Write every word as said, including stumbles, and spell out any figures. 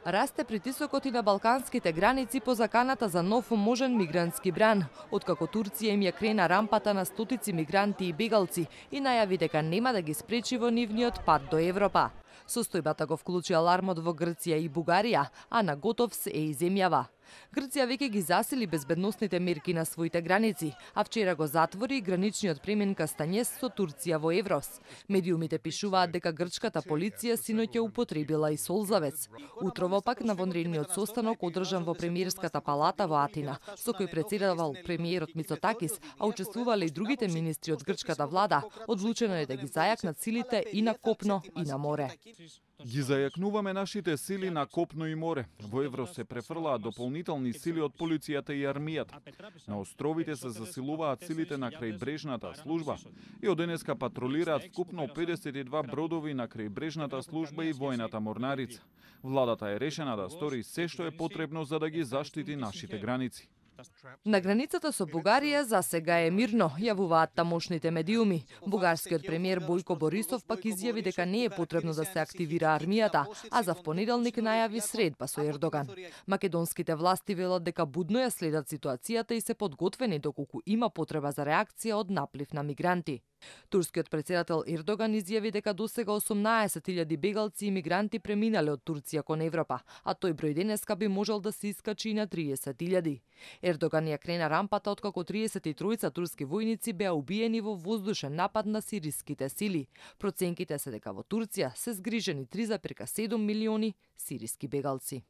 Расте притисокот и на балканските граници по заканата за нов можен мигрантски бран, откако Турција им ја крена рампата на стотици мигранти и бегалци и најави дека нема да ги спречи во нивниот пат до Европа. Состојбата го вклучи алармот во Грција и Бугарија, а на готов се е и земјава. Грција веќе ги засили безбедносните мерки на своите граници, а вчера го затвори и граничниот премен Кастанјес со Турција во Еврос. Медиумите пишуваат дека грчката полиција синоќ ја употребила и солзавец. Утрово пак на вонредниот состанок одржан во премиерската палата во Атина, со кој претседавал премиерот Мицотакис, а учествувале и другите министри од грчката влада, одлучено е да ги зајакнат силите и на копно и на море. Ги зајакнуваме нашите сили на копно и море. Во Еврос се префрлаат дополнителни сили од полицијата и армијата. На островите се засилуваат силите на крајбрежната служба и од денеска патролираат вкупно педесет и два бродови на крајбрежната служба и војната морнарица. Владата е решена да стори се што е потребно за да ги заштити нашите граници. На границата со Бугарија за сега е мирно, јавуваат тамошните медиуми. Бугарскиот премиер Бојко Борисов пак изјави дека не е потребно да се активира армијата, а за впонеделник најави средба со Ердоган. Македонските власти велат дека будно ја следат ситуацијата и се подготвени доколку има потреба за реакција од наплив на мигранти. Турскиот председател Ердоган изјави дека досега осумнаесет илјади бегалци и мигранти преминале од Турција кон Европа, а тој број денеска би можел да се искачи и на триесет илјади. Ердоган ја крена рампата откако триесет и тројца турски војници беа убиени во воздушен напад на сириските сили. Проценките се дека во Турција се згрижени три зарез седум милиони сириски бегалци.